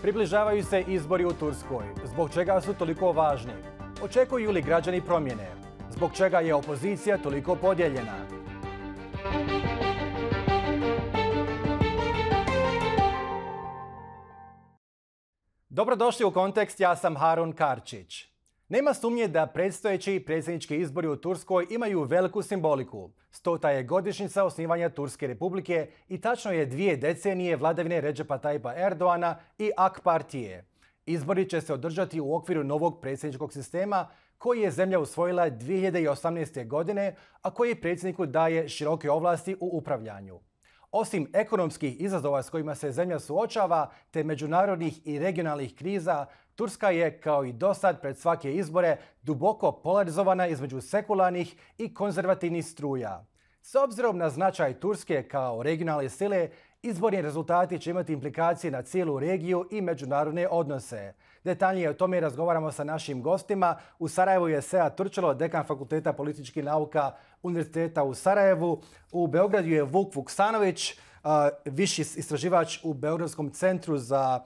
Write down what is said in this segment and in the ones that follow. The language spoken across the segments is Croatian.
Približavaju se izbori u Turskoj. Zbog čega su toliko važni? Očekuju li građani promjene? Zbog čega je opozicija toliko podijeljena? Dobrodošli u Kontekst, ja sam Harun Karčić. Nema sumnje da predstojeći predsjednički izbori u Turskoj imaju veliku simboliku. 100. je godišnjica osnivanja Turske republike i tačno je 2 decenije vladavine Redžepa Tayyipa Erdoana i AK partije. Izbori će se održati u okviru novog predsjedničkog sistema koji je zemlja usvojila 2018. godine, a koji predsjedniku daje široke ovlasti u upravljanju. Osim ekonomskih izazova s kojima se zemlja suočava, te međunarodnih i regionalnih kriza, Turska je, kao i dosad pred svake izbore, duboko polarizovana između sekularnih i konzervativnih struja. S obzirom na značaj Turske kao regionalne sile, izborni rezultati će imati implikacije na cijelu regiju i međunarodne odnose. Detaljnije o tome razgovaramo sa našim gostima. U Sarajevu je Sead Turčalo, dekan Fakulteta političkih nauka Univerziteta u Sarajevu. U Beogradu je Vuk Vuksanović, viši istraživač u Beogradskom centru za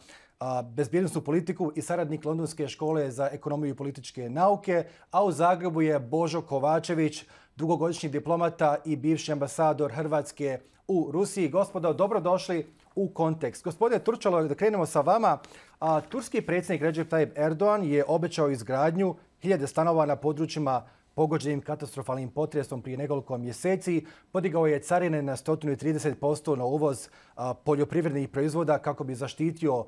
bezbjednosnu politiku i saradnik Londonske škole za ekonomiju i političke nauke, a u Zagrebu je Božo Kovačević, dugogodišnji diplomata i bivši ambasador Hrvatske u Rusiji. Gospodo, dobrodošli u Kontekst. Gospodine Turčalo, da krenemo sa vama. Turski predsjednik Recep Tayyip Erdogan je obećao izgradnju 1000 stanova na područjima pogođenim katastrofalnim potresom prije nekoliko mjeseci. Podigao je carine na 130% na uvoz poljoprivrednih proizvoda kako bi zaštitio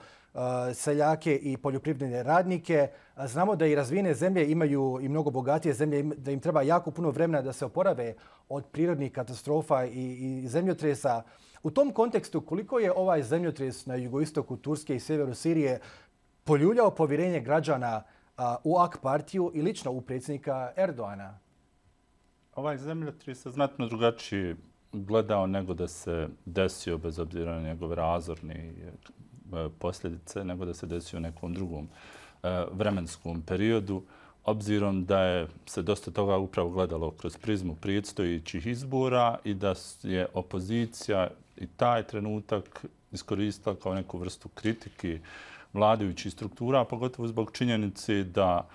seljake i poljoprivredne radnike. Znamo da i razvijene zemlje imaju i mnogo bogatije zemlje, da im treba jako puno vremena da se oporave od prirodnih katastrofa i zemljotresa. U tom kontekstu, koliko je ovaj zemljotres na jugoistoku Turske i sjeveru Sirije poljuljao povjerenje građana u AK partiju i lično u predsjednika Erdoana? Ovaj zemljotres se znatno drugačije gledao nego da se desio, bez obzira na njegove razorne posljedice, nego da se desio u nekom drugom vremenskom periodu, obzirom da je se dosta toga upravo gledalo kroz prizmu predstojećih izbora i da je opozicija i taj trenutak iskoristila kao neku vrstu kritike vladajućih struktura, pogotovo zbog činjenice da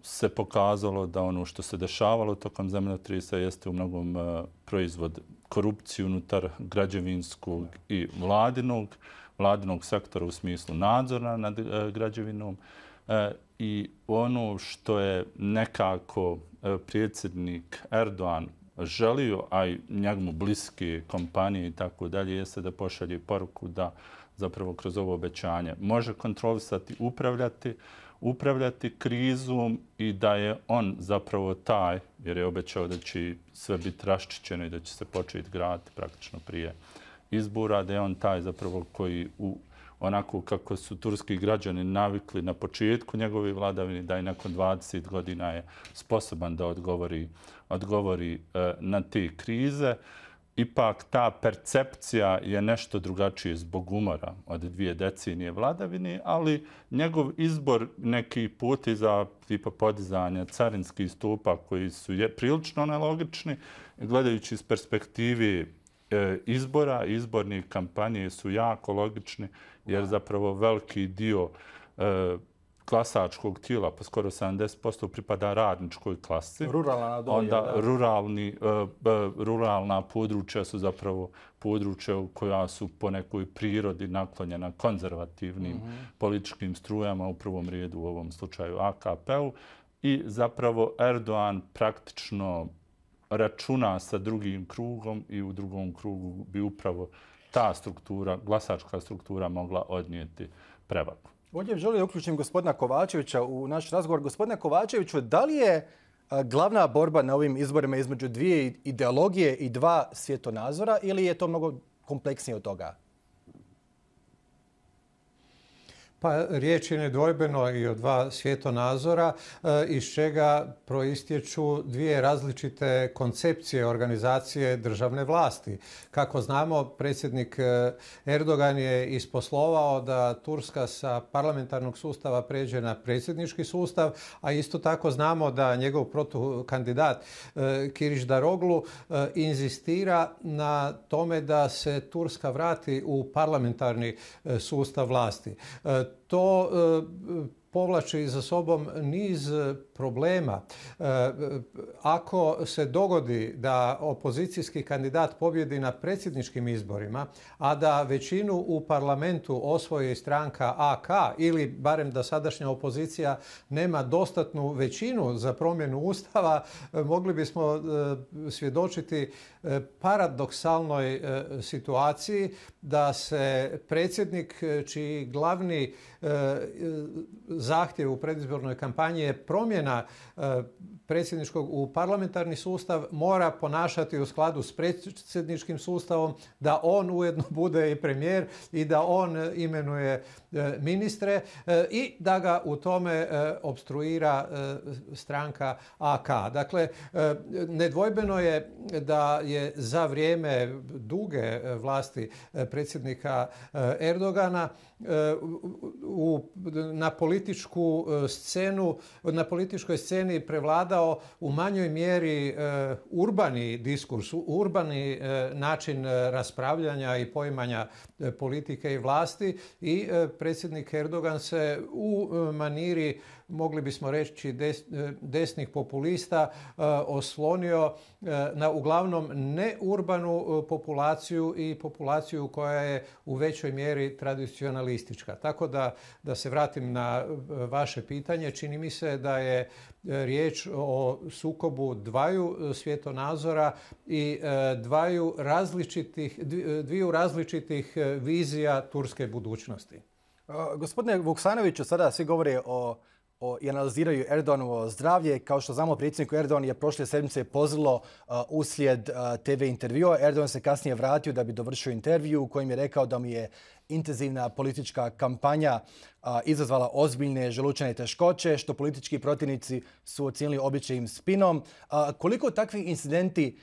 se pokazalo da ono što se dešavalo tokom zemljotresa jeste u mnogom proizvod korupcije unutar građevinskog i vladinog sektora u smislu nadzora nad građevinom. I ono što je nekako predsjednik Erdogan želio, a i njemu bliske kompanije i tako dalje, jeste da pošalje poruku da zapravo kroz ovo obećanje može kontrolisati, upravljati krizom i da je on zapravo taj, jer je obećao da će sve biti raščišćeno i da će se početi graditi praktično prije izbora, da je on taj zapravo koji onako kako su turski građani navikli na početku njegove vladavine, da i nakon 20 godina je sposoban da odgovori na te krize. Ipak ta percepcija je nešto drugačije zbog umora od 2 decenije vladavine, ali njegov izbor nekih poteza tipa podizanja carinskih stopa koji su prilično nelogični, gledajući iz perspektive izbora, izborne kampanje su jako logični, jer zapravo veliki dio glasačkog tijela, pa skoro 70%, pripada radničkoj klasi. Onda ruralna područja su zapravo područja koja su po nekoj prirodi naklonjena konzervativnim političkim strujama, u prvom redu u ovom slučaju AKP-u. I zapravo Erdogan praktično računa sa drugim krugom i u drugom krugu bi upravo ta struktura, glasačka struktura mogla odnijeti prevagu. Ovdje želim da uključim gospodina Kovačevića u naš razgovor. Gospodine Kovačeviću, da li je glavna borba na ovim izborima između 2 ideologije i 2 svjetonazora ili je to mnogo kompleksnije od toga? Pa riječ je nedvojbeno i o dva svjetonazora iz čega proistječu dvije različite koncepcije organizacije državne vlasti. Kako znamo, predsjednik Erdogan je isposlovao da Turska sa parlamentarnog sustava pređe na predsjednički sustav, a isto tako znamo da njegov protukandidat Kilić Daroglu inzistira na tome da se Turska vrati u parlamentarni sustav vlasti. To povlači za sobom niz problema. Ako se dogodi da opozicijski kandidat pobjedi na predsjedničkim izborima, a da većinu u parlamentu osvoji stranka AK ili barem da sadašnja opozicija nema dostatnu većinu za promjenu Ustava, mogli bismo svjedočiti paradoksalnoj situaciji da se predsjednik čiji glavni zahtjev u predizbornoj kampanji je promjena predsjedničkog u parlamentarni sustav mora ponašati u skladu s predsjedničkim sustavom, da on ujedno bude i premijer i da on imenuje ministre i da ga u tome opstruira stranka AK. Dakle, nedvojbeno je da je za vrijeme duge vlasti predsjednika Erdogana na političkoj sceni prevladao u manjoj mjeri urbani diskurs, urbani način raspravljanja i poimanja politike i vlasti i predsjednik Erdogan se u maniri, mogli bismo reći, desnih populista oslonio na uglavnom neurbanu populaciju i populaciju koja je u većoj mjeri tradicionalistička. Tako da se vratim na vaše pitanje, čini mi se da je riječ o sukobu dvaju svjetonazora i dviju različitih vizija turske budućnosti. Gospodine Vuksanoviću, sada svi govore i analiziraju Erdoganovo zdravlje. Kao što znamo, predsjedniku Erdogan je prošle sedmice pozvalo uslijed TV intervjua. Erdogan se kasnije vratio da bi dovršio intervju u kojem je rekao da mu je intenzivna politička kampanja izazvala ozbiljne želučane teškoće, što politički protivnici su ocijenili običajnim spinom. Koliko takvi incidenti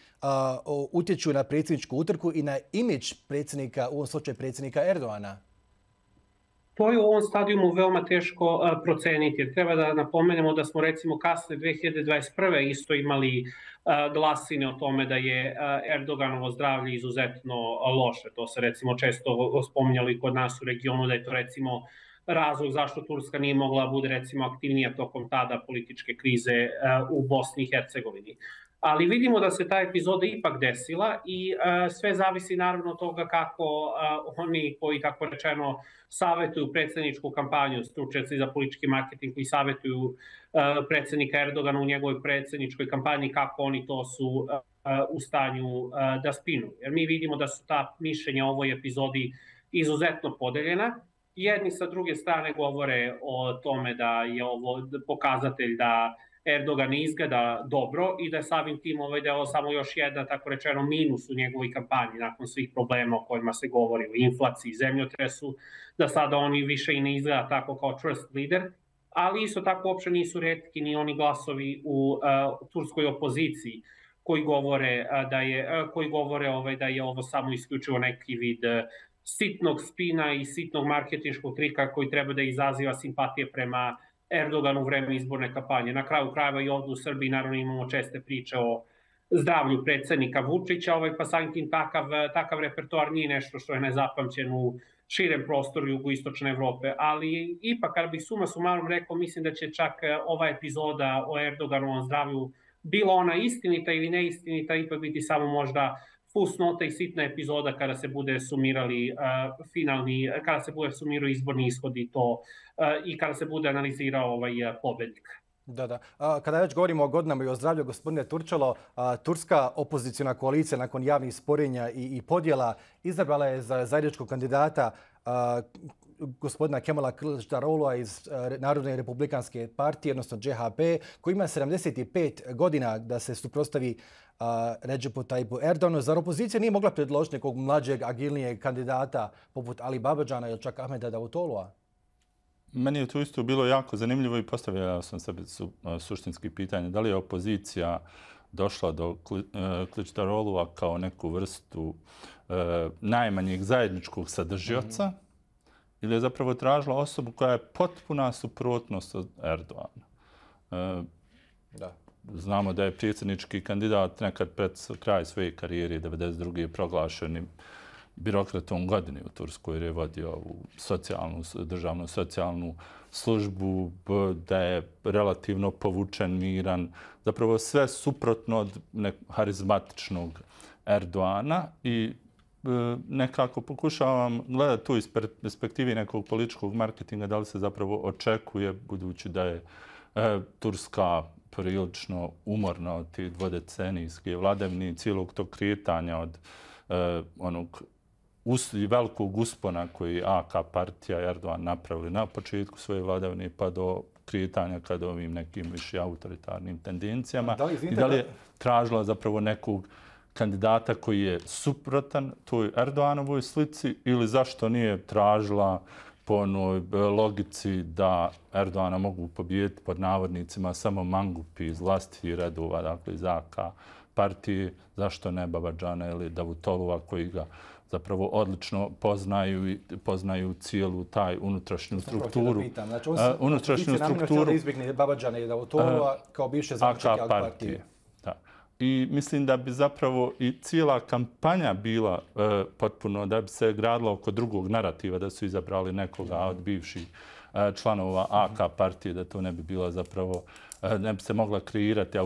utječu na predsjedničku utrku i na imidž predsjednika, u ovom slučaju predsjednika Erdogana? To je u ovom stadijumu veoma teško proceniti. Treba da napomenemo da smo recimo kasne 2021. isto imali glasine o tome da je Erdoganovo zdravlje izuzetno loše. To se recimo često spominjalo i kod nas u regionu, da je to recimo razlog zašto Turska nije mogla bude recimo aktivnija tokom tada političke krize u Bosni i Hercegovini. Ali vidimo da se ta epizoda ipak desila i sve zavisi naravno od toga kako oni koji, kako rečeno, savjetuju predsjedničku kampanju, stručnjaci za politički marketing koji savjetuju predsjednika Erdogana u njegovoj predsjedničkoj kampanji, kako oni to su u stanju da spinu. Jer mi vidimo da su ta mišljenja o ovoj epizodi izuzetno podeljena. Jedni sa druge strane govore o tome da je ovo pokazatelj da Erdogan ne izgleda dobro i da je samim tim da je ovo samo još jedan, tako rečeno, minus u njegovoj kampanji nakon svih problema o kojima se govori, o inflaciji, zemljotresu, da sada oni više i ne izgleda tako kao trust leader, ali isto tako uopće nisu retki ni oni glasovi u turskoj opoziciji koji govore da je ovo samo isključivo neki vid sitnog spina i sitnog marketinškog trika koji treba da izaziva simpatije prema Erdoganu u vreme izborne kampanje. Na kraju krajeva i ovdje u Srbiji naravno imamo česte priče o zdravlju predsjednika Vučića, pa samim tim takav repertoar nije nešto što je nezapamćen u širem prostoru jugoistočne Evrope. Ali ipak, kada bih suma sumarum rekao, mislim da će čak ova epizoda o Erdoganovom zdravlju, bila ona istinita ili neistinita, ipak biti samo možda fusnota i sitna epizoda kada se bude sumirao izborni ishodi i kada se bude analizirao pobednik. Da. Kada već govorimo o godinama i o zdravlju, gospodine Turčalo, turska opozicijona koalicija nakon javnih sporenja i podjela izabrala je za zajedničkog kandidata gospodina Kemala Kılıçdaroğlu'a iz Narodne republikanske partije, odnosno CHP, koji ima 75 godina da se suprotstavi Recepu Tayyipu Erdoganu. Zar opozicija nije mogla predložiti nekog mlađeg, agilnijeg kandidata poput Ali Babađana ili čak Ahmeda Davutolua? Meni je tu isto bilo jako zanimljivo i postavljao sam sebi suštinski pitanje. Da li je opozicija došla do Kılıçdaroğlu'a kao neku vrstu najmanjeg zajedničkog sadržioca ili je zapravo tražila osobu koja je potpuna suprotnost od Erdogana. Da. Znamo da je predsjednički kandidat nekad pred kraj svoje karijere 1992. proglašenim birokratom godine u Turskoj jer je vodio državnu socijalnu službu, da je relativno povučen, miran. Zapravo sve suprotno od harizmatičnog Erdogana i nekako pokušavam gledati tu iz perspektivi nekog političkog marketinga da li se zapravo očekuje, budući da je Turska prilično umorna od tih dvodecenijske vladavine i cijelog tog kretanja od onog velikog uspona koji AK partija i Erdogan napravili na početku svoje vladavine pa do kretanja kada ovim nekim više autoritarnim tendencijama. I da li je tražila zapravo nekog kandidata koji je suprotan toj Erdoganovoj slici ili zašto nije tražila po onoj logici da Erdogana mogu pobijediti pod navodnicima samo mangupi iz vlastitih redova, dakle iz AK partije, zašto ne Babađana ili Davutolova koji ga zapravo odlično poznaju cijelu taj unutrašnju strukturu. Znači, unutrašnju strukturu da izbjegne Babađana i Davutolova kao bivše zaključake AK partije. I mislim da bi zapravo i cijela kampanja bila potpuno, da bi se gradila oko drugog narativa, da su izabrali nekoga od bivših članova AK partije, da to ne bi bila zapravo, ne bi se mogla kreirati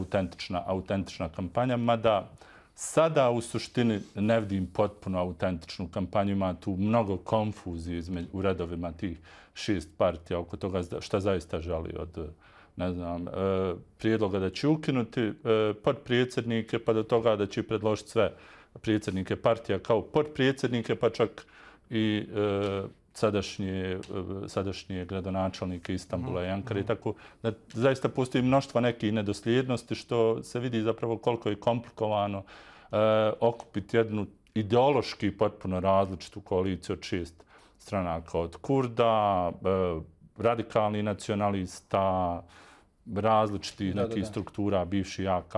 autentična kampanja, mada sada u suštini ne vidim potpuno autentičnu kampanju, ima tu mnogo konfuzije u redovima tih 6 partija oko toga šta zaista želi od prijedloga da će ukinuti potpredsjednike pa do toga da će predložiti sve predsjednike partija kao potpredsjednike pa čak i sadašnje gradonačelnike Istanbula i Ankare. Tako da zaista postoji mnoštva nekih nedosljednosti što se vidi zapravo koliko je komplikovano okupiti jednu ideološki potpuno različitu koaliciju od 6 stranaka od Kurda, radikalnih nacionalista, različitih nekih struktura, bivši AK,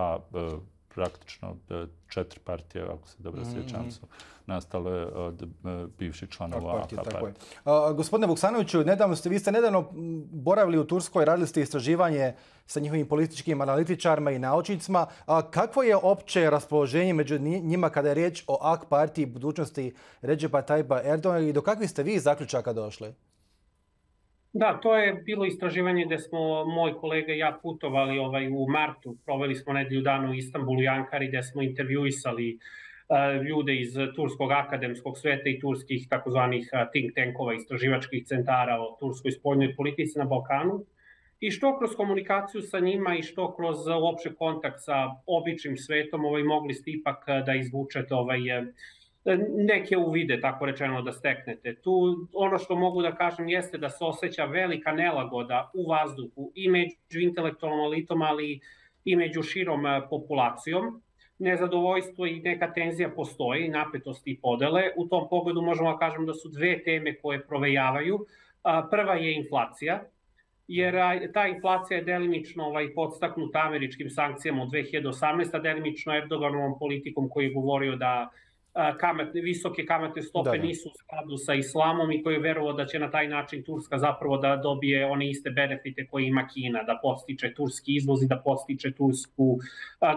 praktično 4 partije, ako se dobro sjećam, su nastale od bivših članova AK partije. Gospodine Vuksanoviću, vi ste nedavno boravili u Turskoj, radili ste istraživanje sa njihovim političkim analitičarima i naučnicima. Kakvo je opće raspoloženje među njima kada je riječ o AK partiji i budućnosti Recepa Tayyipa Erdogana i do kakvih ste vi zaključaka došli? Da, to je bilo istraživanje gdje smo moj kolega i ja putovali u martu. Proveli smo nedelju dana u Istanbulu i Ankari gdje smo intervjuisali ljude iz turskog akademskog sveta i turskih takozvanih think tankova, istraživačkih centara o turskoj spoljnoj politici na Balkanu. I što kroz komunikaciju sa njima i što kroz uopće kontakt sa običnim svetom mogli ste ipak da izvučete neke uvide, tako rečeno, da steknete. Tu ono što mogu da kažem jeste da se osjeća velika nelagoda u vazduhu i među intelektualnom elitom, ali i među širom populacijom. Nezadovoljstvo i neka tenzija postoji, napetosti i podele. U tom pogledu možemo da kažem da su 2 teme koje provejavaju. Prva je inflacija, jer ta inflacija je delimično podstaknuta američkim sankcijama u 2018. delimično Erdoganovom politikom koji je govorio da visoke kamatne stope nisu u skladu sa islamom i koji je verovao da će na taj način Turska zapravo da dobije one iste benefite koje ima Kina, da podstiče turski izvoz i da podstiče tursku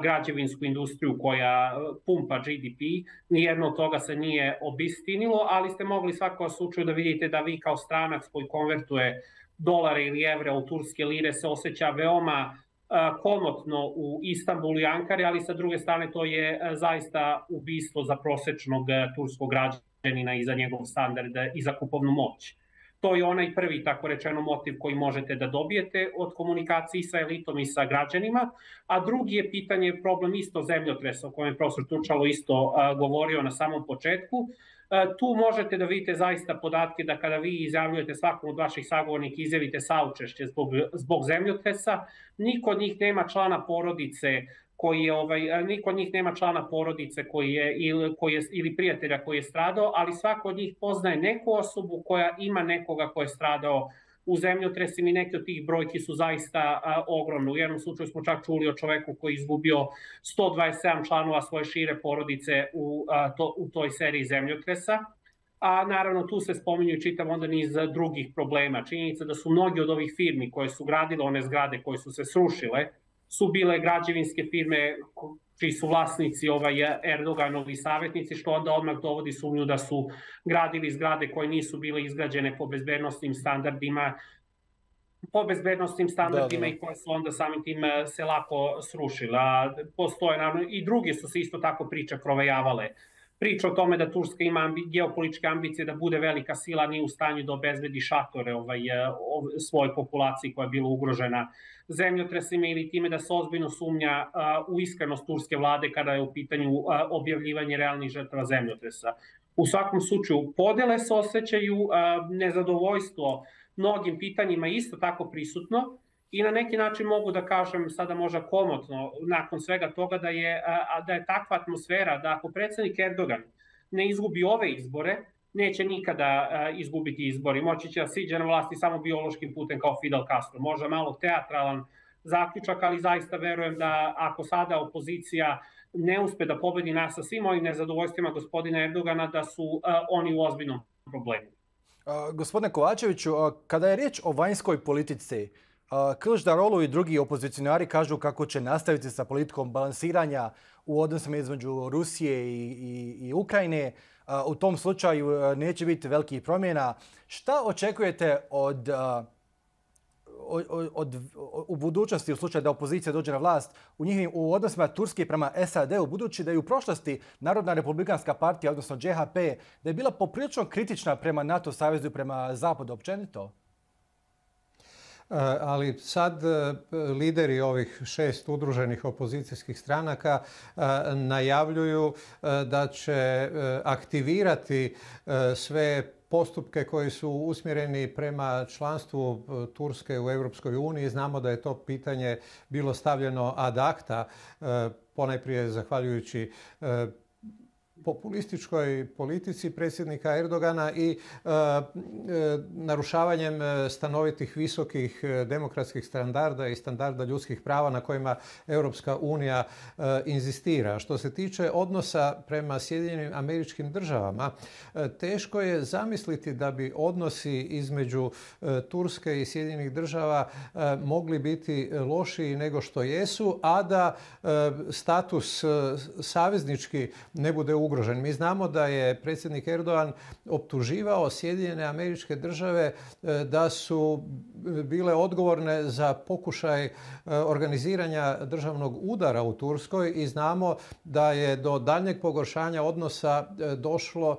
građevinsku industriju koja pumpa GDP. Nijedno od toga se nije obistinilo, ali ste mogli svakako slučaju da vidite da vi kao stranac koji konvertuje dolare ili evre u turske lire se osjeća veoma komotno u Istanbulu i Ankari, ali sa druge strane to je zaista ubistvo za prosečnog turskog građanina i za njegov standard i za kupovnu moć. To je onaj prvi, tako rečeno, motiv koji možete da dobijete od komunikacije sa elitom i sa građanima, a drugi je pitanje problem isto zemljotresa o kojem je profesor Turčalo isto govorio na samom početku. Tu možete da vidite zaista podatke da kada vi izjavljujete svakom od vaših sagovornika, izjavite saučešće zbog zemljotresa, niko od njih nema člana porodice ili prijatelja koji je stradao, ali svako od njih poznaje neku osobu koja ima nekoga ko je stradao u zemljotresima i neke od tih brojki su zaista ogromne. U jednom slučaju smo čak čuli o čoveku koji je izgubio 127 članova svoje šire porodice u toj seriji zemljotresa. A naravno tu se spominju i čitav onda niz drugih problema. Činjenica da su mnogi od ovih firmi koje su gradile one zgrade koje su se srušile su bile građevinske firme čiji su vlasnici Erdoganovi savjetnici, što onda odmah dovodi sumnju da su gradili zgrade koje nisu bile izgrađene po bezbednosnim standardima i koje su onda samim tim se lako srušile. Postoje naravno i druge su se isto tako priče provejavale. Priča o tome da Turska ima geopolitičke ambicije da bude velika sila, nije u stanju da obezbedi šatore svojoj populaciji koja je bila ugrožena zemljotresima ili time da se ozbiljno sumnja u iskrenost turske vlade kada je u pitanju objavljivanje realnih žrtava zemljotresa. U svakom slučaju podele se osjećaju, nezadovoljstvo mnogim pitanjima isto tako prisutno i na neki način mogu da kažem sada možda komotno nakon svega toga da je takva atmosfera da ako predsjednik Erdogan ne izgubi ove izbore, neće nikada izgubiti izbori. Moći će da siđe na vlasti samo biološkim putem kao Fidel Castro. Možda malo teatralan zaključak, ali zaista verujem da ako sada opozicija ne uspe da pobedi nas sa svim ovim nezadovoljstvima gospodina Erdogana, da su oni u ozbiljnom problemu. Gospodine Kovačeviću, kada je riječ o vanjskoj politici, Kılıçdaroğlu i drugi opozicionari kažu kako će nastaviti sa politikom balansiranja u odnosima između Rusije i Ukrajine. U tom slučaju neće biti velikih promjena. Šta očekujete u budućnosti u slučaju da opozicija dođe na vlast u odnosima Turske prema SAD-u, budući da je u prošlosti Narodna republikanska partija, odnosno JHP, da je bila poprilično kritična prema NATO savezu i prema Zapadu općenito? Ali sad lideri ovih 6 udruženih opozicijskih stranaka najavljuju da će aktivirati sve postupke koji su usmjereni prema članstvu Turske u Europskoj uniji. Znamo da je to pitanje bilo stavljeno ad acta, ponajprije zahvaljujući populističkoj politici predsjednika Erdogana i narušavanjem stanovitih visokih demokratskih standarda i standarda ljudskih prava na kojima Europska unija inzistira. Što se tiče odnosa prema Sjedinjenim Američkim Državama, teško je zamisliti da bi odnosi između Turske i Sjedinjenih Država mogli biti lošiji nego što jesu, a da status saveznički ne bude ugrožen. Mi znamo da je predsjednik Erdogan optuživao Sjedinjene Američke Države da su bile odgovorne za pokušaj organiziranja državnog udara u Turskoj i znamo da je do daljnjeg pogoršanja odnosa došlo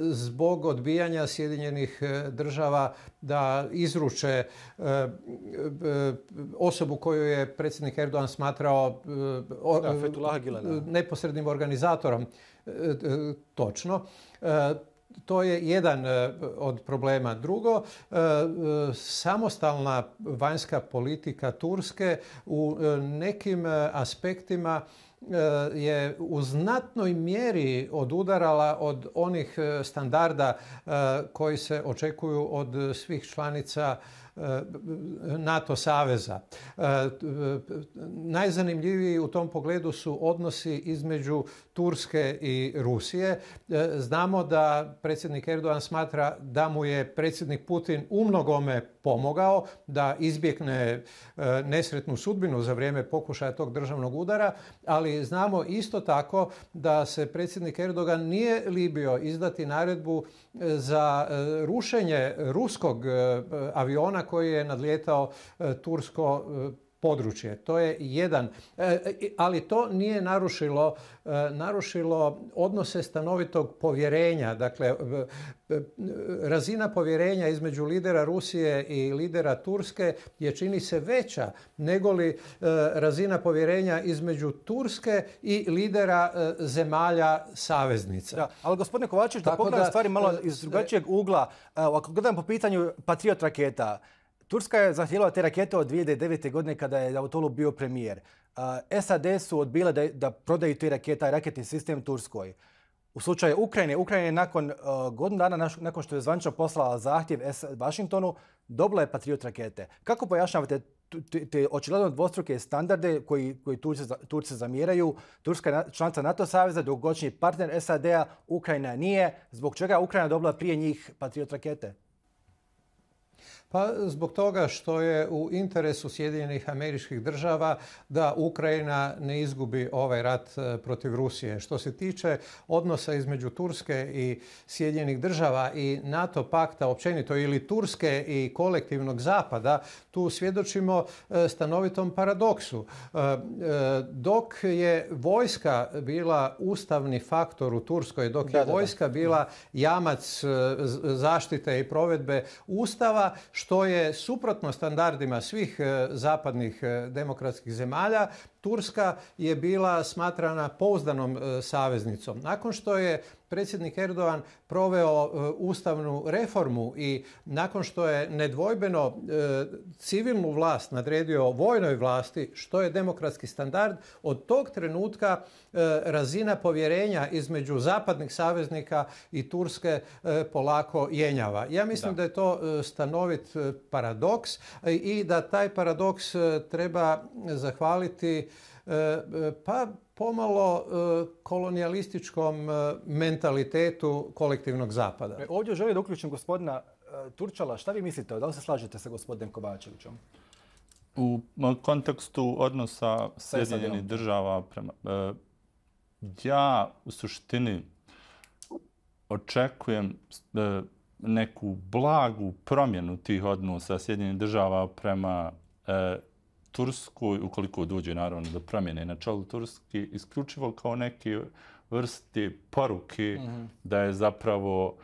zbog odbijanja Sjedinjenih Država da izruče osobu koju je predsjednik Erdogan smatrao neposrednim organizatorom. Točno. To je jedan od problema. Drugo, samostalna vanjska politika Turske u nekim aspektima je u znatnoj mjeri odudarala od onih standarda koji se očekuju od svih članica NATO saveza. Najzanimljiviji u tom pogledu su odnosi između Turske i Rusije. Znamo da predsjednik Erdogan smatra da mu je predsjednik Putin umnogome pomogao da izbjegne nesretnu sudbinu za vrijeme pokušaja tog državnog udara, ali znamo isto tako da se predsjednik Erdogan nije libio izdati naredbu za rušenje ruskog aviona koji je nadlijetao tursko područje. To je jedan, ali to nije narušilo odnose stanovitog povjerenja. Dakle, razina povjerenja između lidera Rusije i lidera Turske je, čini se, veća nego li razina povjerenja između Turske i lidera zemalja saveznica. Da, ali gospodine Kovačević, da pogledam stvari malo iz drugačijeg ugla. Ako gledam po pitanju Patriot raketa, Turska je zahtijevala te rakete od 2009. godine kada je Davutoglu bio premijer. SAD su odbile da prodaju te rakete, taj raketni sistem Turskoj. U slučaju Ukrajine, Ukrajina je nakon godinu dana nakon što je zvanično poslala zahtjev Washingtonu, dobila je Patriot rakete. Kako pojašnjavate te očigledno dvostruke standarde koji Turci zamjeraju? Turska je članica NATO saveza, dugogodišnji partner SAD-a, Ukrajina nije. Zbog čega je Ukrajina dobila prije njih Patriot rakete? Pa zbog toga što je u interesu Sjedinjenih Američkih Država da Ukrajina ne izgubi ovaj rat protiv Rusije. Što se tiče odnosa između Turske i Sjedinjenih Država i NATO pakta općenito ili Turske i kolektivnog zapada, tu svjedočimo stanovitom paradoksu. Dok je vojska bila ustavni faktor u Turskoj, dok je vojska bila jamac zaštite i provedbe Ustava, što je suprotno standardima svih zapadnih demokratskih zemalja, Turska je bila smatrana pouzdanom saveznicom. Nakon što je predsjednik Erdogan proveo ustavnu reformu i nakon što je nedvojbeno civilnu vlast nadredio vojnoj vlasti, što je demokratski standard, od tog trenutka razina povjerenja između zapadnih saveznika i Turske polako jenjava. Ja mislim da je to stanovit paradoks i da taj paradoks treba zahvaliti pa pomalo kolonijalističkom mentalitetu kolektivnog zapada. Ovdje želim da uključim gospodina Turčala. Šta vi mislite? Da li se slažete sa gospodinom Kovačevićem? U kontekstu odnosa Sjedinjenih Država prema... Ja u suštini očekujem neku blagu promjenu tih odnosa Sjedinjenih Država prema Turskoj, ukoliko dođe naravno do promjene na čelu Turski, isključivo kao neke vrste poruke da je zapravo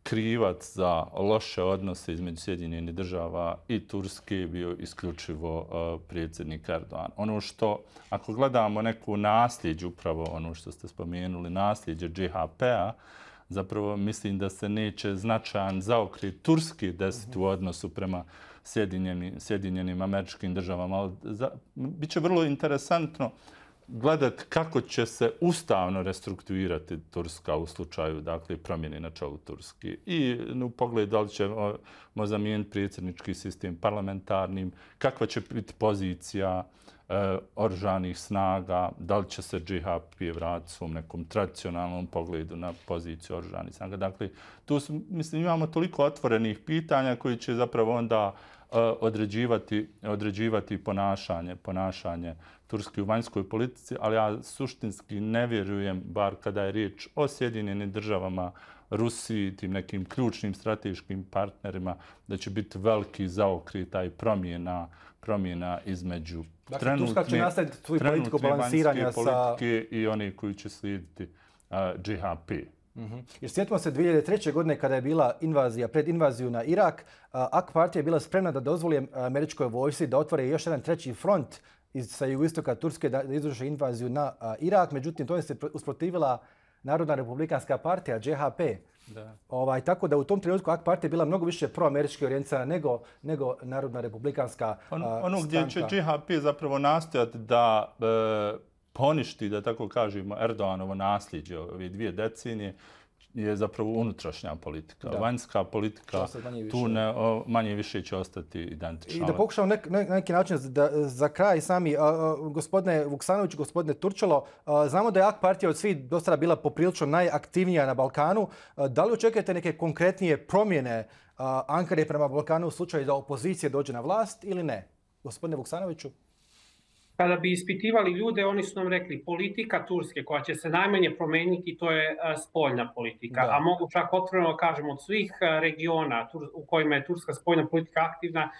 krivac za loše odnose između Sjedinjenih Država i Turske bio isključivo predsjednik Erdogan. Ono što, ako gledamo neku nasljeđu, upravo ono što ste spomenuli, nasljeđe GHP-a, zapravo mislim da se neće značajan zaokret Turski desiti u odnosu prema Sjedinjenim Američkim Državama. Ali biće vrlo interesantno gledati kako će se ustavno restrukturirati Turska u slučaju promjene na čelu Turske. I u pogledu da li ćemo zamijeniti predsjednički sistem parlamentarnim, kakva će biti pozicija oružanih snaga, da li će se GHP vratiti svom nekom tradicionalnom pogledu na poziciju oružanih snaga. Dakle, tu imamo toliko otvorenih pitanja koji će zapravo onda određivati ponašanje Turske u vanjskoj politici, ali ja suštinski ne vjerujem, bar kada je riječ o Sjedinjenim Državama, Rusiji, tim nekim ključnim strateškim partnerima, da će biti veliki zaokret taj promjena između trenutne vanjske politike i one koji će slijediti GHP. Jer sjetimo se 2003. godine kada je bila pred invaziju na Irak, AK partija je bila spremna da dozvoli američkoj vojsci da otvore još jedan treći front sa jugoistoka Turske da izvrše invaziju na Irak. Međutim, to je se usprotivila Narodna republikanska partija, GHP. Tako da u tom trenutku AK partija je bila mnogo više proamerički orijentisana nego Narodna republikanska stranka. Ono gdje će GHP zapravo nastojati da poništi, da tako kažemo, Erdoganovo nasljeđe ove 2 decenije je zapravo unutrašnja politika. Vanjska politika tu manje više će ostati identična. I da pokušamo na neki način za kraj sami, gospodine Vuksanović, gospodine Turčalo, znamo da je AK partija od svih do sada bila poprilično najaktivnija na Balkanu. Da li očekujete neke konkretnije promjene Ankare prema Balkanu u slučaju da opozicija dođe na vlast ili ne? Gospodine Vuksanoviću? Kada bi ispitivali ljude, oni su nam rekli politika Turske koja će se najmanje promeniti, to je spoljna politika. A mogu čak otvoreno kažemo od svih regiona u kojima je turska spoljna politika aktivna,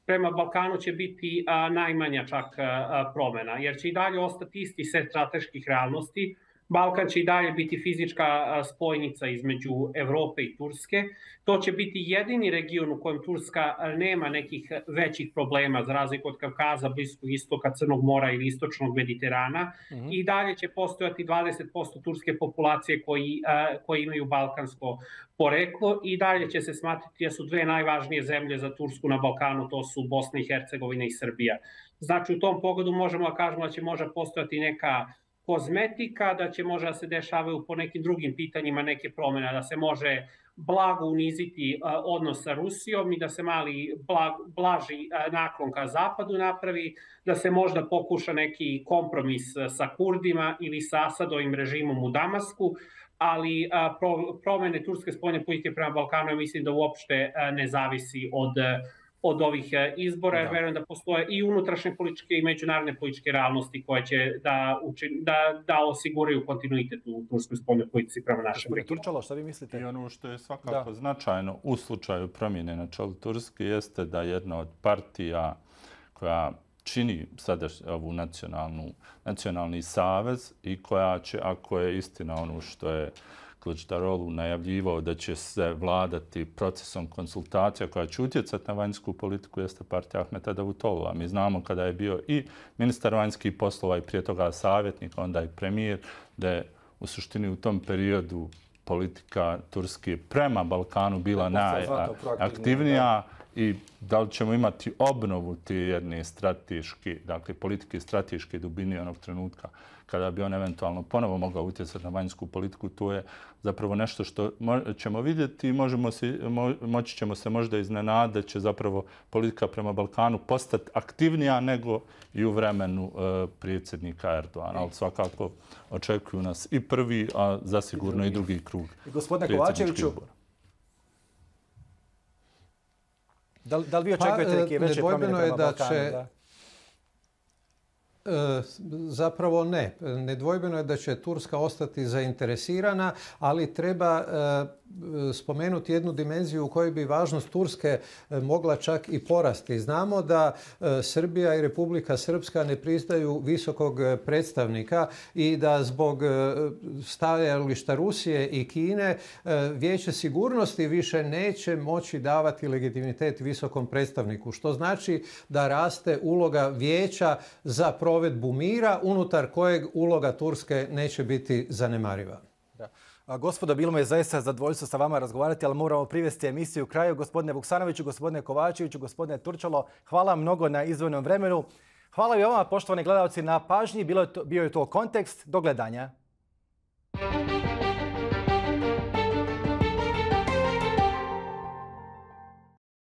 prema Balkanu će biti najmanja čak promjena, jer će i dalje ostati isti set strateških realnosti. Balkan će i dalje biti fizička spojnica između Evrope i Turske. To će biti jedini region u kojem Turska nema nekih većih problema, za razliku od Kavkaza, Bliskog istoka, Crnog mora ili istočnog Mediterana. I dalje će postojati 20% turske populacije koji imaju balkansko poreklo i dalje će se smatrati da su 2 najvažnije zemlje za Tursku na Balkanu, to su Bosna i Hercegovina i Srbija. Znači, u tom pogledu možemo da kažemo da će možda postojati neka kozmetika, da će možda se dešavaju po nekim drugim pitanjima neke promjene, da se može blago uniziti odnos sa Rusijom i da se mali blaži naklon ka zapadu napravi, da se možda pokuša neki kompromis sa Kurdima ili sa Asadovim režimom u Damasku, ali promjene turske spoljne politike prema Balkanu, ja mislim da uopšte ne zavisi od ovih izbora, jer verujem da postoje i unutrašnje političke i međunarodne političke realnosti koje će da osiguraju kontinuitet u turskoj spoljnoj politici prema našem regionu. Turčalo, šta vi mislite? I ono što je svakako značajno u slučaju promjene na čelu Turske jeste da jedna od partija koja čini sada ovu nacionalni savez i koja će, ako je istina ono što je Kılıçdaroğlu najavljivao da će se vladati procesom konsultacija koja će utjecati na vanjsku politiku, jeste partija Ahmeta Davutoglu'a. Mi znamo kada je bio i ministar vanjskih poslova i prije toga savjetnik, onda i premijer, da je u suštini u tom periodu politika Turske prema Balkanu bila najaktivnija. I da li ćemo imati obnovu te jedne strateške, dakle politike strateške dubine onog trenutka kada bi on eventualno ponovo mogao utjecati na vanjsku politiku, to je zapravo nešto što ćemo vidjeti i moći ćemo se možda iznenaditi da će zapravo politika prema Balkanu postati aktivnija nego i u vremenu predsjednika Erdogana. Ali svakako očekuju nas i prvi, a zasigurno i drugi krug. Gospodine Kovačeviću, da li vi očekujete neke veće promjene prema Balkanu? Zapravo ne. Nedvojbeno je da će Turska ostati zainteresirana, ali treba spomenuti jednu dimenziju u kojoj bi važnost Turske mogla čak i porasti. Znamo da Srbija i Republika Srpska ne priznaju visokog predstavnika i da zbog stajališta Rusije i Kine Vijeće sigurnosti više neće moći davati legitimitet visokom predstavniku, što znači da raste uloga Vijeća za provedbu mira, unutar kojeg uloga Turske neće biti zanemariva. Gospodo, bilo mi je zaista zadovoljstvo sa vama razgovarati, ali moramo privesti emisiju kraju. Gospodine Vuksanoviću, gospodine Kovačeviću, gospodine Turčalo, hvala mnogo na izdvojenom vremenu. Hvala i vama, poštovani gledalci, na pažnji. Bio je to Kontekst. Do gledanja.